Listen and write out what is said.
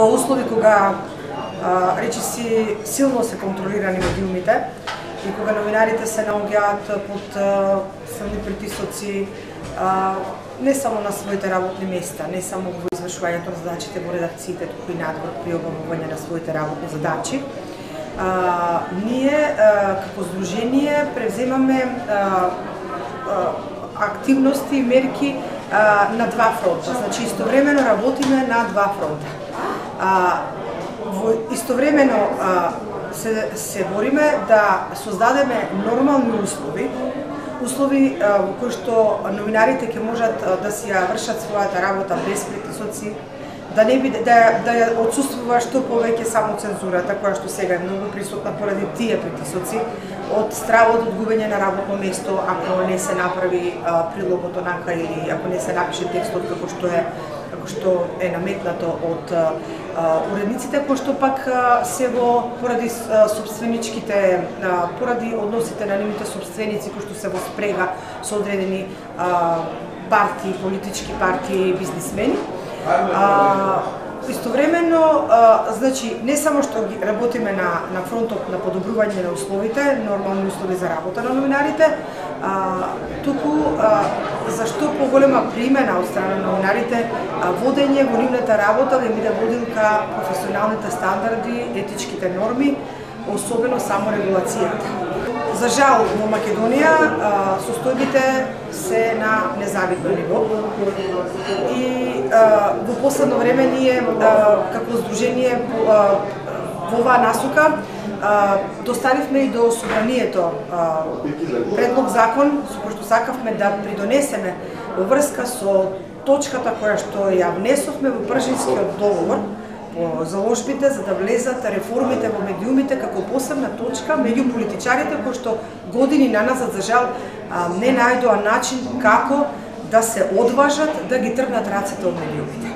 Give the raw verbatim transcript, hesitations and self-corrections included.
во услови кога речиси силно се контролирани медиумите и кога новинарите се наоѓаат под силни притисоци не само на своите работни места, не само во извршувањето на задачите во редакциите, туку и надвор при обавување на своите работни задачи. А, ние а, како здружение превземаме а, а, активности и мерки а, на два фронта. Значи истовремено работиме на два фронта. А, во истовремено а, се, се бориме да создадеме нормални услови, услови а, во кои што новинарите ќе можат а, да си ја вршат својата работа без притисоци, да не биде да да ја отсуствува што повеќе само цензурата, која што сега е многу присутна поради тие притисоци, од стравот од губење на работно место ако не се направи а, прилогот онака или ако не се напише текстот како што е како што е наметнато од а, уредниците, кои што пак а, се во поради а, собственичките а, поради односите на нивните собственици кои што се во спрега со одредени а, партии, политички партии и бизнисмени. А, истовремено, а, значи, не само што работиме на, на фронтот на подобрување на условите, нормални услови за работа на новинарите, а, туку а, зашто поголема примена од страна на новинарите, а, водење во нивната работа да биде водил ка професионалните стандарди, етичките норми, особено саморегулацијата. За жал, во Македонија состојбите се на незавидно ниво и а, во последно време ние а, како здружение а, во оваа насока а, доставивме и до собранието а, предлог закон со кој што сакавме да придонесеме во врска со точката која што ја внесовме во Пржинскиот договор по заложбите за да влезат реформите во медиумите како посебна точка меѓу политичарите кои што години наназад за жал не најдоа начин како да се одважат да ги тргнат рацете од медиумите.